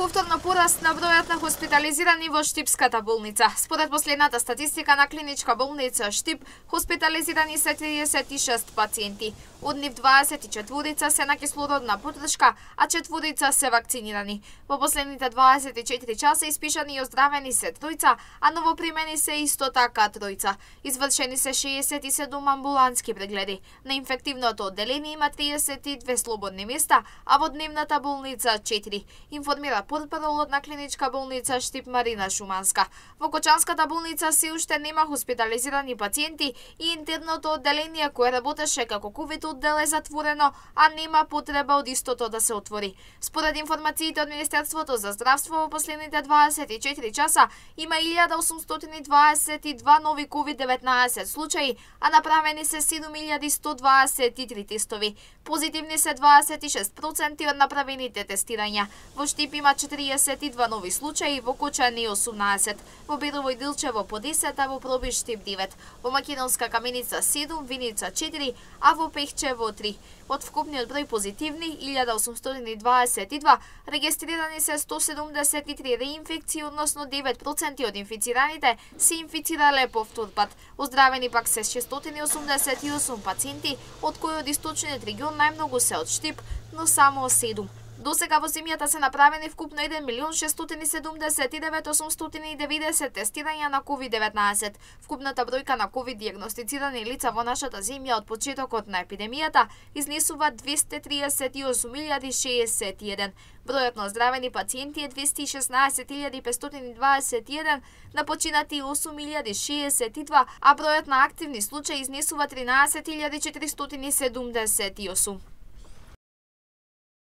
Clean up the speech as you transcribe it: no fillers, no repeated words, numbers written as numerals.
повторно пораст на бројот на хоспитализирани во Штипската болница. Според последната статистика на Клиничка болница Штип, хоспитализирани се 36 пациенти. Од нив 24 се на кислородна подршка, а 4 се вакцинирани. Во последните 24 часа испишани и оздравени се 3, а новопримени се исто така 3. Извршени се 67 амбулантски прегледи. На инфективното одделение има 32 слободни места, а во дневната болница 4. Информира портпаролот на Клиничка болница Штип Марина Шуманска. Во Кочанската болница се уште нема хоспитализирани пациенти и интерното одделение кое работеше како ковид оддел е затворено, а нема потреба од истото да се отвори. Според информациите од Министерството за здравство, во последните 24 часа има 1822 нови COVID-19 случаи, а направени се 7123 тестови. Позитивни се 26% од направените тестирања. Во Штип има 42 нови случаи, во Кочани 18, во Бирово и Дилчево по 10, а во Пробиш Штип 9, во Македонска Каменица 7, Виница 4, а во Пехчево 3. Од вкупниот број позитивни 1822, регистрирани се 173 реинфекции, односно 9% од инфицираните се инфицирале повтор пат. Оздравени пак се 688 пациенти, од кои од источниот регион најмногу се од Штип, но само 7. До сега во земјата се направени вкупно 1.679.890 тестирања на COVID-19. Вкупната бројка на COVID диагностицирани лица во нашата земја од почетокот на епидемијата изнесува 238.061. Бројот на оздравени пациенти е 216.521, на починати 8.062, а бројот на активни случаи изнесува 13.478.